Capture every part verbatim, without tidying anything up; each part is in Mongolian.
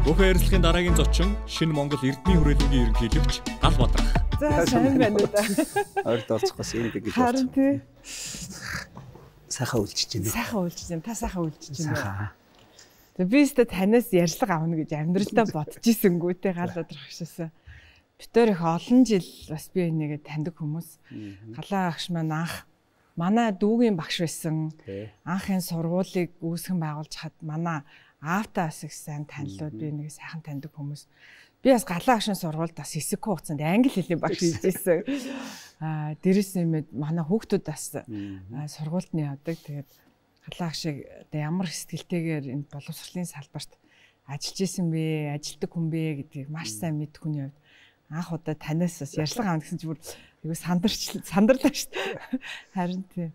Бүхэн ярилцлагын дараагийн зочин шинэ Монгол Эрдэнэ хүрээлэнгийн ерөнхийлөгч Гал Бадрах. За сайн байна уу да. Ойрд орцохоос юм гэж байна. Харин тий. Сайхан үлчиж байна. Сайхан үлчиж байна. Та сайхан үлчиж байна. Сайхан. Тэгээ би өөртөө танаас ярьцлага авна гэж амьдралдаа бодож ирсэнгүү те Гал Бадрах гişсэн. Битээр их олон жил бас би энийгээ таньдаг хүмүүс. Галаа агш маань анх манай дүүгийн багш байсан. Анхын сургуулийг үүсгэн байгуулж хад манай аавтаас их сайн танилуд би нэг сайхан таньдаг хүмүүс. Би бас галаа агшин сургуульд бас хэсэг хугацаанд англи хэлний багш хийжсэн. Аа дээрэс нь манай хүүхдүүд бас сургуульд нь явдаг. Тэгээд галаа агшиг одоо ямар сэтгэлтэйгээр энэ боловсролын салбарт ажиллаж исэн бэ, ажилтдаг хүн бэ гэдгийг маш сайн мэдэх хүний хувьд анх удаа танаас бас ярьцлага авна гэсэн чинь бүр айгу сандарч сандарлаа шүү дээ. Харин тий.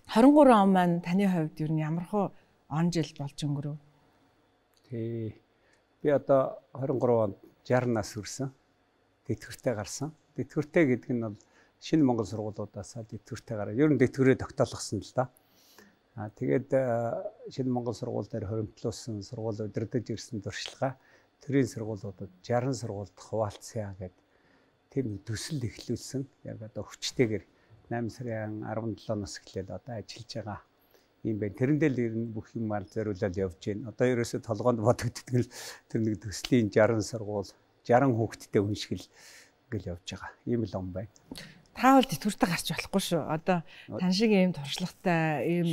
двадцать три он маань таны хувьд ер нь ямар хөө он жил болж өнгөрөв? Тий. Би одоо двадцать три онд шейсдесят нас хүрсэн. Тэтгэвртэй гарсан. Тэтгэвртэй гэдэг нь бол шинэ Монгол сургуулиудаас тэтгэвртэй гараад ер нь тэтгэврээ тогтоолгосон л да. Аа тэгээд шинэ Монгол сургууль дээр хоримтлуулсан сургууль удирдах ирсэн туршлага төрийн сургуулиудад шейсдесят сургуульд хуваалцъя гэдэг тийм төсөл эхлүүлсэн. Яг одоо хүчтэйгээр найман сарын арван седьмоноос эхлээд одоо ажиллаж байгаа юм байна. Тэрэндээ л ер нь бүх юмар зориулаад явж байна. Одоо ерөөсөө толгоонд бодогддог л тэр нэг төслийн шейсдесят сургууль шейсдесят хүүхэдтэй хүн шиг л ингээл явж байгаа. Ийм л он байна. Та бол тэтгэвртэй гарч болохгүй шүү. Одоо тань шиг ийм туршлагатай, ийм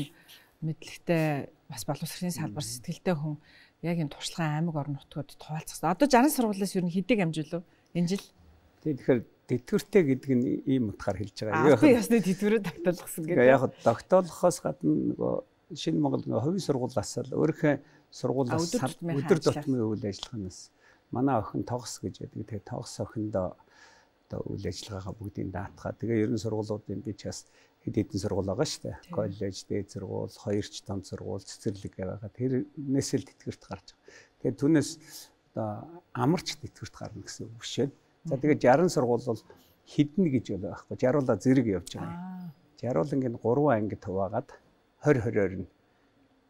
мэдлэгтэй бас боловсролын салбар сэтгэлтэй хүн яг энэ туршлагын аймаг орон нутгад туулцсан. Одоо шейсдесят сургуулиас ер нь хэдэг амжилв энэ жил? Тэгэхээр тэтгэвртэй гэдэг нь ийм утгаар хэлж байгаа. Яг би ясны тэтгэврээ тогтоолгосон гэдэг. Яг тогтоолгохоос гадна нөгөө шинэ Монгол нөгөө хувийн сургуулиас л өөрийнхөө сургуулиас өдөр тутмын үйл ажиллагаанаас манай охин тогс гэж байдаг. Тэгээ тогс охиндоо одоо үйл ажиллагаагаа бүгдийг даатгаа. Тэгээ ерөн сургуулиудын би ч бас хэд хэдэн сургууль байгаа шүү дээ. Коллеж, дээд сургууль, хоёрч том сургууль, цэцэрлэг байгаа. Тэрнээс л тэтгэврт гарч байгаа. Тэгээ түүнээс одоо амарч тэтгэврт гарна гэсэн үг биш ээ. За тэгээд шейсдесят сургууль бол хіднэ гэж бол байхгүй. шейсдесят-аа зэрэг явж байгаа. шейсдесят ингээд гурван анги хуваагаад двадцать двадцать-оор нь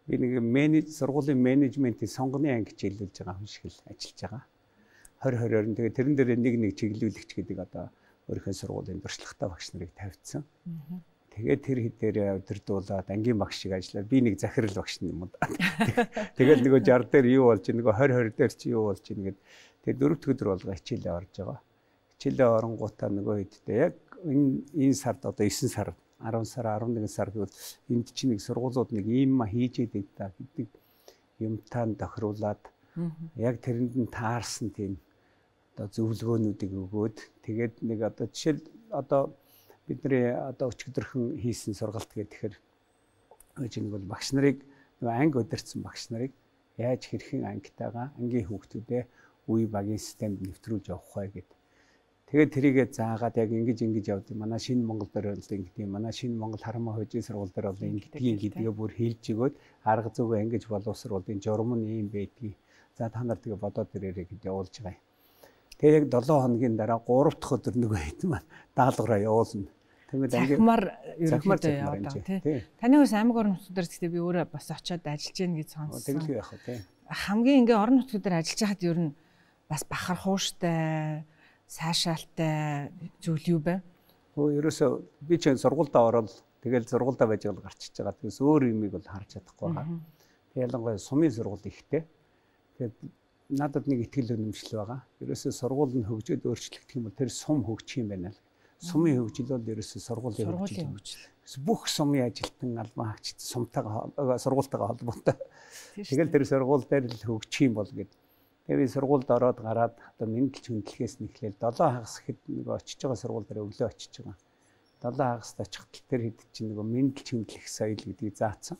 би нэг менеж сургуулийн менежментийн сонгоны анги хичээлүүлж байгаа хүн шиг л ажиллаж байгаа. двадцать двадцать-оор нь тэгээд тэрэн дээр нэг нэг чиглүүлэгч гэдэг одоо өөрийнхөө сургуулийн туршлагатай багш нарыг тавьдсан. Тэгээд тэр хэдээрээ удирдуулаад ангийн багш шиг ажиллаад би нэг захирал багш юм уу. Тэгээд нөгөө шейсдесят дээр юу болж нөгөө двадцать двадцать дээр чи юу болж ийн гэд тэгээд дөрөвд өдөр болго хичээлээ орж байгаа. Хичээлээ оронгуудаа нөгөө хэдтэй яг энэ энэ сард одоо девять сар арван сар арван нэгэн сар гэвэл энд чинь нэг сургуулиуд нэг ийм ма хийж идэг та гэдэг юмтаа тохируулаад яг тэрэнд нь таарсан тийм одоо зөвлөгөөнүүдийг өгөөд тэгээд нэг одоо жишээл одоо бидний одоо өчигдөрхөн хийсэн сургалт гэхээр энэ бол багш нарыг нөгөө анги удирдсан багш нарыг яаж хэрхэн ангитайгаа ангийн хүүхдүүдээ үе багийн системд нэвтрүүлж явах вэ гэдэг. Тэгээд тэрийгээ заагаад яг ингэж ингэж явдаг. Манай шинэ Монгол дээр бол ингэдэг. Манай шинэ Монгол харамаа хожийн сургууль дээр бол ингэдэг гэдгээ бүр хэлж өгөөд арга зүгээ ингэж боловсруулалтын журам нь ийм байдгийг. За та нар тэгээ бодоод ирээрэй гэж явуулж байгаа юм. Тэгээд яг долоо хоногийн дараа гурав дахь өдөр нөгөө хэд маань даалгавраа явуулна. Тэгээд захимаар ерөнхийдөө яваад тий. Таны ус аймаг орон нутгад дээр гэхдээ би өөрөө бас очиод ажиллаж гин гэж сонссон. Тэгэлгүй яах вэ тий. Хамгийн ингээ орон нутгад дээр ажиллаж хаад ер нь бас бахархууштай, сайшаалтай зүйл юу бэ? Өө ерөөсөө би ч сургуульдаа ороод тэгэл сургуульдаа байж байгаа гарчиж байгаа. Тэгээс өөр юмыг бол харж чадахгүй байгаа. Ялангуяа сумын сургууль ихтэй. Тэгээд надад нэг ихтгэл үнэмшил байгаа. Ерөөсөө сургууль нь хөгжөөд өөрчлөгдөх юм бол тэр сум хөгжих юм байна л. Сумын хөгжил бол ерөөсөө сургуулийн хөгжил. Бүх сумын ажилтан албан хаагчид сумтайгаа сургуультайгаа холбоотой. Тэгэл тэр сургууль дээр л хөгжих юм бол гэдэг. Тэгээ би сургуульд ороод гараад одоо мэдлж хөндлөхээс нэхлээл долоо хагас хэд нэг очиж байгаа сургууль дээр өглөө очиж байгаа. долоо хагаст очихтал тэр хэд чинь нэг мэдлж хөндлөх соёл гэдгийг заасан.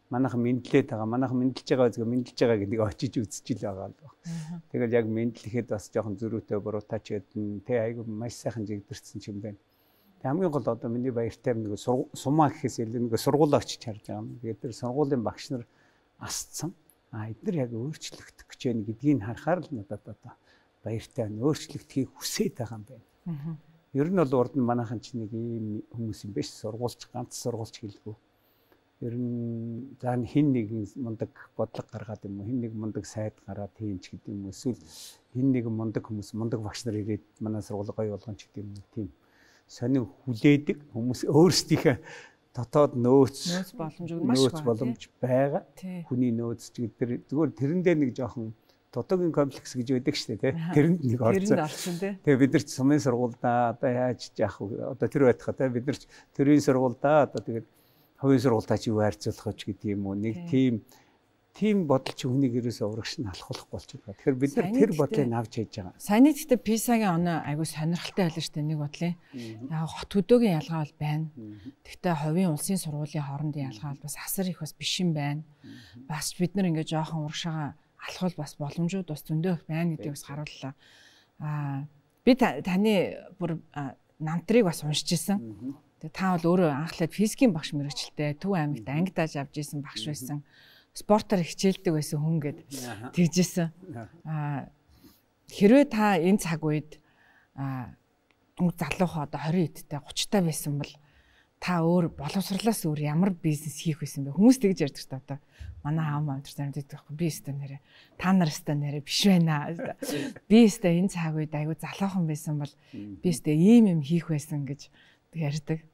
Манайхан мэдлээд байгаа, манайхан мэдлж байгаа үзгээ мэдлж байгаа гэдгийг очиж үзчихэл байгаа л байна. Тэгэл яг мэдлэхэд бас жоохон зөрүүтэй буруутай ч гэдэг тэ айгүй маш сайхан жигдэрсэн юм байна. Тэг хамгийн гол одоо миний баяртай нэг сумаа гэхээс илүү нэг сургуулаа очиж харж байгаа юм. Тэгээд тэр сургуулийн багш нар асцсан. А эдгээр яг өөрчлөгдөх гэж байна гэдгийг харахаар л надад одоо баяртай байна. Өөрчлөгдөхийг хүсээд байгаа юм байна. Ер нь бол урд нь манайхан ч нэг ийм хүмүүс юм биш. Сургуульч ганц сургуульч хэлгүй. ер нь за хин нэгэн мундаг бодлого гаргаад юм уу, хин нэг мундаг сайд гараад тийм ч гэдэг юм уу, эсвэл хин нэгэн мундаг хүмүүс мундаг багш нар ирээд манай сургууль гоё болгоно ч гэдэг юм уу, тийм сонин хүлээдэг хүмүүс өөрсдийнхээ дотоод нөөц боломж маш нөөц боломж байгаа. Хүний нөөц ч гэдэг зүгээр тэрэн дээр нэг жоохон дутуугийн комплекс гэж байдаг шүү дээ, тий. Тэрэнд нэг орсон. Тэгээ бид нар ч сумын сургуульдаа одоо яаж яах вэ? Одоо тэр байтхаа тий бид нар ч төрийн сургуульдаа одоо тэгээд хувийн сургуультай чи юу харьцуулах вэ гэдэг юм уу? Нэг тийм тийм бодол чи хүнийг ерөөсөө урагш нь алхуулахгүй болчиход байгаа. Тэгэхээр бид нар тэр бодлыг авч хийж байгаа. Саяны гэхдээ писагийн оноо айгүй сонирхолтой байлаа шүү дээ нэг бодлын. Яг хот хөдөөгийн ялгаа бол байна. Гэхдээ хувийн улсын сургуулийн хоорондын ялгаа бол бас асар их бас биш юм байна. Бас бид нар ингээ жоохон урагшаага алхвал бас боломжууд бас зөндөө байна гэдгийг бас харууллаа. Аа би таны бүр намтрыг бас уншиж ирсэн. Тэгээ та бол өөрөө анхлаад физикийн багш мэрэгчлээ. Төв аймагт анги дааж авч ирсэн багш байсан. Спортоор хичээлдэг байсан хүн гэд тэгжсэн. Аа хэрвээ та энэ цаг үед аа залуухан одоо хорин эдтэй гуцтай байсан бол та өөр боловсрлоос өөр ямар бизнес хийх байсан бэ? Хүмүүс тэгж ярьдаг ч одоо манай аав маань тэр гэдэг байхгүй би өстө нэрэ та нар өстө нэрэ биш байна. Би өстө энэ цаг үед айгүй залуухан байсан бол би өстө ийм юм хийх байсан гэж ярьдаг.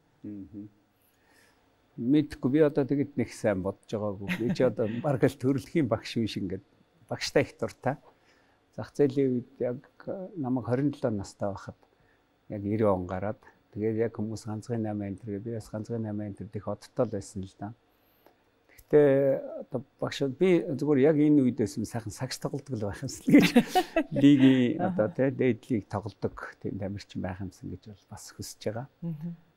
Мэдгүй би одоо тэгэд нэг сайн бодож байгаагүй. Би ч одоо баг л төрөлхийн багш биш ингээд багштай их дуртай. Зах зээлийн үед яг намайг хорин долоо настай байхад яг девять он гараад тэгээд яг хүмүүс ганцхан наймаа энэ төр би бас ганцхан наймаа энэ төр их одтой л байсан л да. Гэхдээ одоо багш би зүгээр яг энэ үед байсан сайхан сагс тоглодог л байх юмсан гэж лигийн одоо тий дээд лиг тоглодог тийм тамирчин байх юмсан гэж бол бас хүсэж байгаа.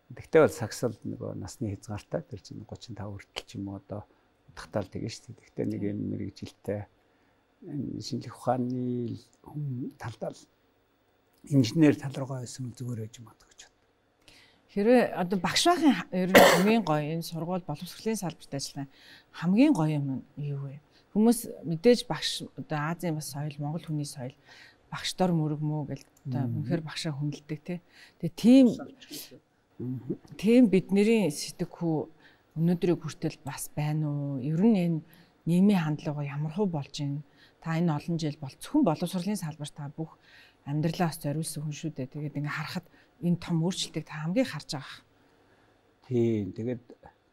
Тэгтээ бол сагсал нөгөө насны хязгаартай тэр чинь тридцать и пять хүртэл ч юм уу одоо утгатаал тэгэн шүү дээ. Тэгтээ нэг юм мэрэгжилтэй шинжлэх ухааны талдаа инженер тал руугаа байсан зүгээр байж магадгүй гэж бод. Хэрвээ одоо багш байхын ер нь хамгийн гоё энэ сургууль боловсролын салбарт ажиллах хамгийн гоё юм юу вэ? Хүмүүс мэдээж багш одоо Азийн бас соёл, Монгол хүний соёл багшдор мөрөг мөө гэж одоо үнэхээр багшаа хүндэлдэг тий. Тэгээ тийм тийм бидний сэтгэхүй өнөөдрийг хүртэл бас байна уу? Ер нь энэ нийгмийн хандлага ямар хөө болж байна? Та энэ олон жил бол зөвхөн боловсролын салбарт та бүх амьдралаас зориулсан хүн шүү дээ. Тэгээд ингээ харахад энэ том өөрчлөлтийг та хамгийн харж байгаа. Тийм. Тэгээд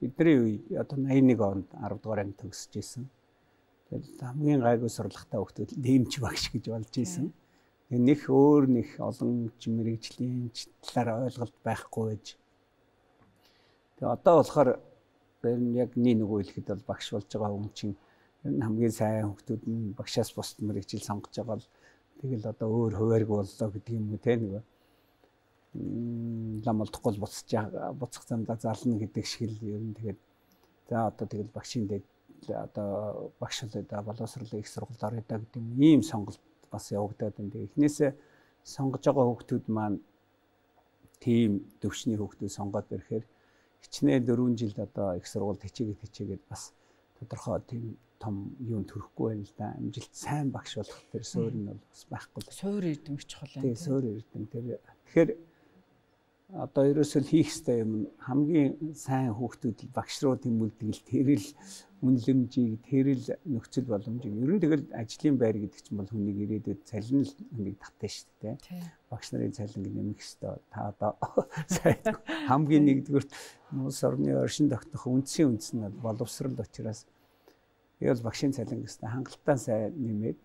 бидний үе одоо восемьдесят и один онд десять дугаар анги төгсөж исэн. Тэгээд хамгийн гайгүй сурлагатай хүмүүс нэмч багш гэж болж исэн. Нэх өөр нэх олон мэрэгжлийн талаар ойлголт байхгүй байж. Тэгээ одоо болохоор ер нь яг нэг нөгөө хэлэхэд бол багш болж байгаа хүн чинь ер нь хамгийн сайн хүмүүсүүд нь багшаас бусд мэрэгжил сонгож байгаа л тэгэл одоо өөр хувааргүй боллоо гэдэг юм уу те нөгөө лам олдохгүй буцаж буцах замдаа зална гэдэг шиг л ер нь тэгээд за одоо тэгэл багшийн дээр одоо багш болоо боловсролын их сургууль орё да гэдэг ийм сонголт бас явагдаад байна. Тэгээ эхнээсээ сонгож байгаа хүүхдүүд маань тийм төвчний хүүхдүүд сонгоод ирэхээр хичнээн дөрвөн жилд одоо их сургуульд хичээгээд хичээгээд бас тодорхой тийм том юм төрөхгүй байна л да. Амжилт сайн багш болох тэр суурь нь бол бас байхгүй. Суурь эрдэм чухал байна. Тийм суурь эрдэм тэр. Тэгэхээр одоо ерөөсөө хийх ёстой юм хамгийн сайн хүүхдүүд багш руу тэмүүлдэг л тэрэл үнэлэмжийг тэрэл нөхцөл боломжийг ер нь тэгэл ажлын байр гэдэг чинь бол хүнийг ирээдүйд цалин л хүнийг татна шүү дээ. Багш нарын цалин нэмэх ёстой. Та одоо сайн хамгийн нэгдүгürt улс орны оршин тогтнох үндсийн үндэс нь боловсрол учраас ял багшийн цалин гэстэй хангалттай сайн нэмээд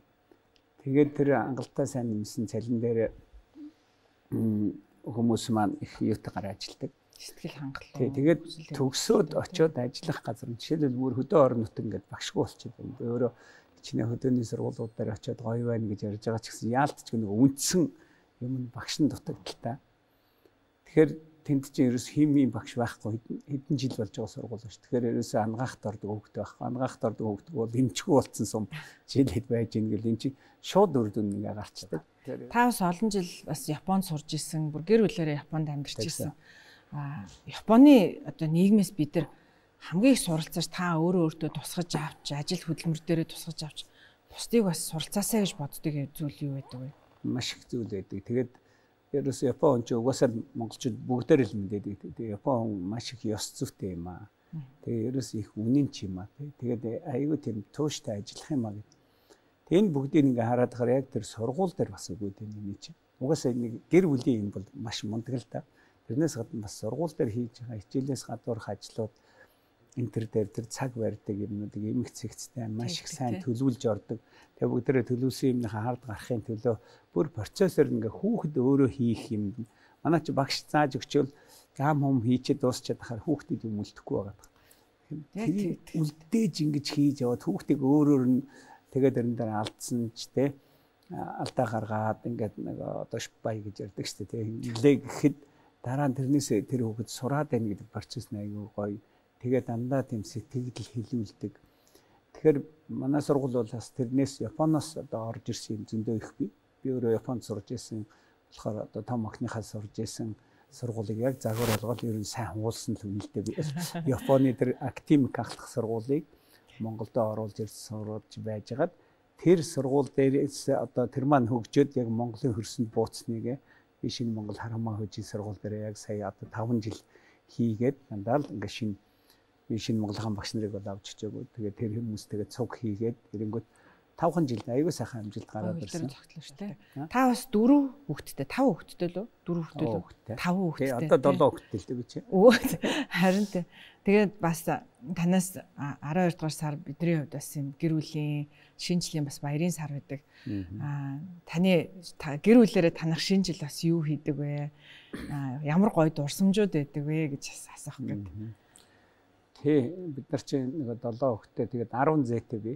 тэгээд тэр хангалттай сайн нэмсэн цалин дээр хүмүүс маань их юутай гараа ажилдаг. Сэтгэл хангалуун. Тий, тэгээд төгсөөд очиод ажиллах газар нь жишээлбэл бүр хөдөө орон нутаг ингээд багшгүй болчиход байна. Би өөрөө чиний хөдөөний сургуулиуд дээр очиод гоё байна гэж ярьж байгаа ч гэсэн яалтч нэг үндсэн юм багш нь дутагдaltaа. Тэгэхээр тэнд чинь ерөөс химийн багш байхгүй хэдэн жил болж байгаа сургууль шүү. Тэгэхээр ерөөсөө ангаахт ордог хөвгтэй байхгүй. Ангаахт ордог хөвгдөг бол эмчгүй болцсон сум жилэд байж ийн гэл энэ чинь шууд үр дүн ингээ гарчдаг. Та бас олон жил бас Японд сурж исэн, бүр гэр бүлээрээ Японд амьдарч исэн. А Японы одоо нийгмээс бид нар хамгийн их суралцаж та өөрөө өөртөө тусгаж авч, ажил хөдөлмөр дээрээ тусгаж авч, бусдыг бас суралцаасаа гэж боддог зүйл юу байдаг вэ? Маш их зүйл байдаг. Тэгээд ерөөсөө Япон ч угаасаа монголчууд бүгдээр л мэдээд байдаг. Япон маш их ёс зүйтэй юм аа. Тэгээ ерөөс их үнэн ч юм аа тий. Тэгээд айгүй тийм тууштай ажиллах юм аа гэдэг. Энэ бүгдийг ингээ хараад байгаа яг тэр сургууль дээр бас үгүй дээ миний чинь. Угаасаа нэг гэр бүлийн юм бол маш мундаг л та. Тэрнээс гадна бас сургууль дээр хийж байгаа хичээлээс гадуурх ажлууд энэ төр дээр тэр цаг барьдаг юмнуудыг эмх цэгцтэй маш их сайн төлөвлөж ордог. Тэгээ бүгдээрээ төлөвлөсөн юмныхаа хард гарахын төлөө бүр процессор ингээ хүүхэд өөрөө хийх юм. Манай чи багш зааж өгчөөл гам хум хийчихэд дуусчаад хахаар хүүхдэд юм үлдэхгүй байгаа. Тэгэхээр үлдээж ингэж хийж яваад хүүхдийг өөрөөр нь тэгээд тэрэн дээр алдсан ч те алдаа гаргаад ингээд нэг одоо шпай гэж ярьдаг шүү дээ. Нилээ гэхэд дараа нь тэрнээс тэр хүүхэд сураад байна гэдэг процесс нь аягүй гоё. Тэгээд дандаа тийм сэтгэл хэлүүлдэг. Тэгэхээр манай сургууль бол бас тэрнээс Японоос одоо орж ирсэн юм зөндөө их бий. Би өөрөө Японд сурж ирсэн болохоор одоо том охиныхаа сурж ирсэн сургуулийг яг загвар болгоод ер нь сайн хуулсан л үнэлтэй би. Японы тэр академик ахлах сургуулийг Монголд оруулж ирсэн сурвалж байжгаад тэр сургууль дээрээс одоо тэр маань хөгжөөд яг Монголын хөрсөнд бууцсныг би шинэ Монгол Харамаа хөгжийн сургууль дээр яг сая одоо таван жил хийгээд дандаа л ингээ шинэ би шинэ Монголын багш нарыг бол авч чижээгүй. Тэгээд тэр хүмүүс тэгээд цуг хийгээд ирэнгүүт тавхан жил аягүй сайхан амжилт гараад ирсэн. Та бас дөрөв хүүхэдтэй, тав хүүхэдтэй лөө? Дөрөв хүүхэдтэй лөө? Тав хүүхэдтэй. Тэгээ одоо долоо хүүхэдтэй л дээ гэж. Өө харин тэ. Тэгээд бас танаас арван хоёр дугаар сар бидний хувьд бас юм гэр бүлийн шинэ жилийн бас баярын сар байдаг. Аа таны гэр бүлээрээ танах шинэ жил бас юу хийдэг вэ? Аа ямар гоё дурсамжууд байдаг вэ гэж асуух гэдэг. Тий бид нар чинь нэг долоо хүүхэдтэй тэгээд арван зээтэй би.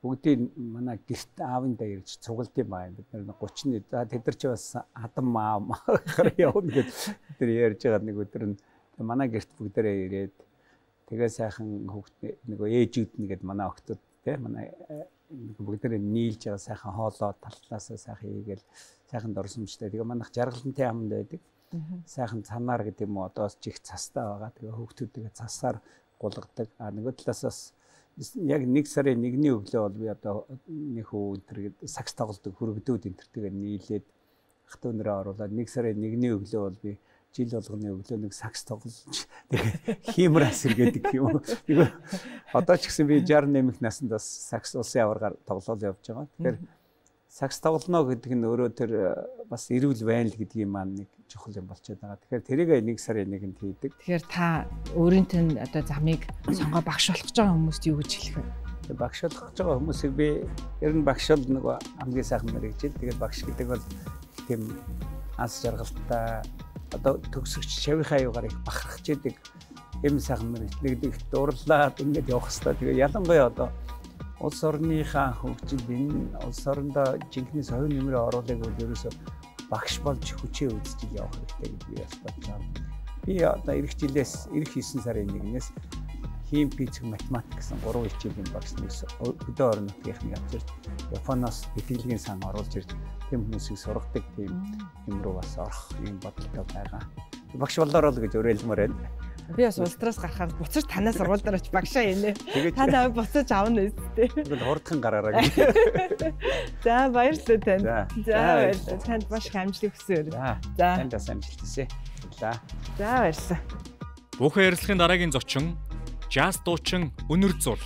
Бүгдийг манай гэрт аавын дээр ирж цугалд юм байна. Бид нар гучин за тэд нар ч бас хадам маа махаар явна гэж тэр ярьж байгаа нэг өдөр нь манай гэрт бүгдээрээ ирээд тэгээ сайхан хүүхд нөгөө ээжүүд нэгэд манай охтууд тий манай бүгдээрээ нийлж байгаа сайхан хоолоо талтлаасаа сайхан хийгээл сайхан дурсамжтай. Тэгээ манайх жаргалантай хамт байдаг. Сайхан цанаар гэдэг юм уу одоос чих цастай байгаа. Тэгээ хүүхдүүд тэгээ цасаар гулгадаг. А нөгөө талаас яг нэг сарын нэгний өглөө бол би одоо нэг хүү энэ төр сакс тоглодог хөргөдүүд энэ төртэйгээ нийлээд ах トゥ нэрээ оруулаад нэг сарын нэгний өглөө бол би жил болгоны өглөө нэг сакс тоглож тэгээ хиймрас иргэдэг юм. Нэг одоо ч гэсэн би шестьдесят нэмэх наснд бас сакс улсын аваргаар тоглоол явж байгаа. Тэгэхээр сакс тоглоно гэдэг нь өөрөө тэр бас эрүүл байна л гэдгийг маань нэг чухал юм болчиход байгаа. Тэгэхээр тэрийг нэг сарын нэгэнд хийдэг. Тэгэхээр та өөрийнхөө одоо замыг сонгоо багш болох гэж байгаа хүмүүст юу гэж хэлэх вэ? Багш болох гэж байгаа хүмүүсийг би ер нь багш бол нэг хамгийн сайхан мэрэгжил. Тэгээд багш гэдэг бол тийм ас жаргалтай одоо төгсөгч шавийнхаа аюугаар их бахархаж идэг юм сайхан мэрэгчлэгдэх дурлаад ингэж явах хэрэгтэй. Тэгээ ялангуяа одоо улс орныхаа хөгжил энэ улс орондоо жинхэнэ соёлын нэмрээ оруулах бол ерөөсөө багш болж хүчээ үзэж явах хэрэгтэй гэж би бас бодож байна. Би одоо эх жилээс эх девять сарын нэгнээс хим физик математик гэсэн гурван хичээлийн багш нэгс хөдөө орон нутгийнхны авчирч Японоос бэлтгэлийн сан оруулж ирж тийм хүмүүсийг сургадаг тийм юм руу бас орох юм бодолтой байгаа. Багш болоороо л гэж уриалмаар байна. Би бас улсраас гарахаар буцаж танаас сургууль дээр очиж багшааийнэ. Та наваа буцаж авна үстэй. Тэгвэл хурдхан гараараа гэж. За баярлалаа танд. За баярлалаа. Танд маш их амжилт хүсье. За. Танд бас амжилт хүсье. За. За баярлалаа. Бүхэн ярилцлагын дараагийн зочин Jazz дуучин Үнэр Зурл.